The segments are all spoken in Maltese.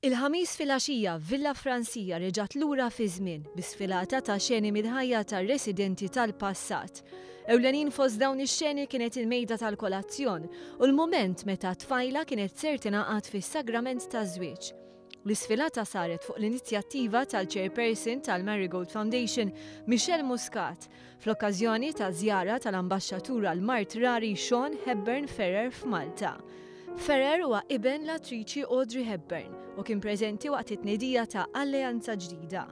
Il-Ħamis filgħaxija, Villa Francia reġgħet lura fiż-żmien bi sfilata ta' xeni mill-ħajja tar-residenti tal-passat. Ewlenin fost dawn ix-xeni kienet il-mejda tal-kolazzjon u l-mument meta tfajla kienet ser tingħaqad fis-sagrament taż-żwieġ. L-isfilata saret fuq l-inizjattiva tal-Chairperson tal-Marigold Foundation, Michelle Muscat, fl-okkażjoni ta' żjara tal-Ambaxxatur għall-Mard Rari Sean Hepburn Ferrer f'Malta. Ferrer huwa iben l-attriċi Audrey Hepburn u kien preżenti waqt it-tnedija ta' alleanza ġdida.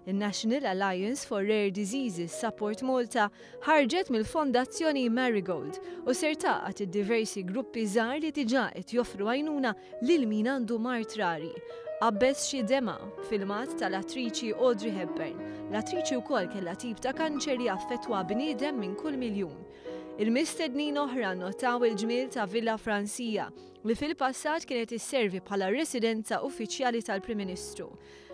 In-National Alliance for Rare Diseases Support Malta ħarġet mill-Fondazzjoni Marigold u ser tgħaqqad id-diversi gruppi żgħar li diġà qed joffru għajnuna lil min għandu mard rari. Qabbeż xi demgħa, filmat tal-attriċi Audrey Hepburn. L-attriċi wkoll kellha tip ta' kanċer li jaffettwa bniedem minn kull miljun. Il-mistednin oħra nnotaw il-ġmiel ta' Villa Francia, li fil-passat kienet isservi bħala r-residenza uffiċjali tal-Prim Ministru.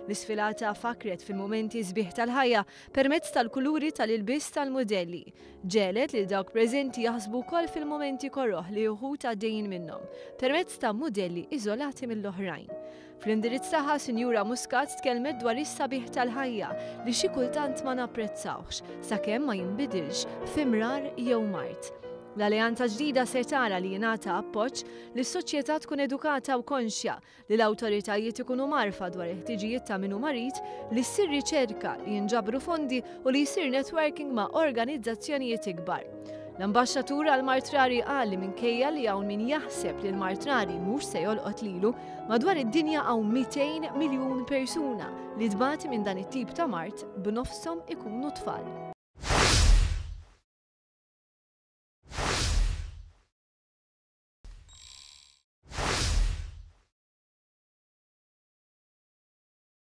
L-isfilata fakkret fil-mumenti sbieħ tal-ħajja permezz tal-kuluri tal-ilbies tal-mudelli. Ġegħlet lil dawk preżenti jaħsbu wkoll fil-mumenti koroh li uħud għaddejjin minnhom, permezz ta' mudelli iżolati mill-oħrajn. Fl-indirizz tagħha, Sinjura Muscat tkellmet dwar is-sabiħ tal-ħajja li xi kultant ma napprezzawhx sakemm ma jinbidilx fi mrar jew mard. L-alleanza ġdida se tara li jingħata appoġġ li s-soċjetà tkun edukata u konxja li l-awtoritajiet ikunu mgħarrfa dwar il-ħtiġijiet ta' min hu marid, li ssir riċerka, li jinġabru fondi u li jsir networking ma' organizzazzjonijiet ikbar. L-Ambaxxatur għal Mard Rari qal li minkejja li hawn min jaħseb li l-mard rari mhux se jolqot lilu, madwar id-dinja hawn 200 miljun persuna li tbati minn dan it-tip ta' mard b'nofshom ikunu tfal.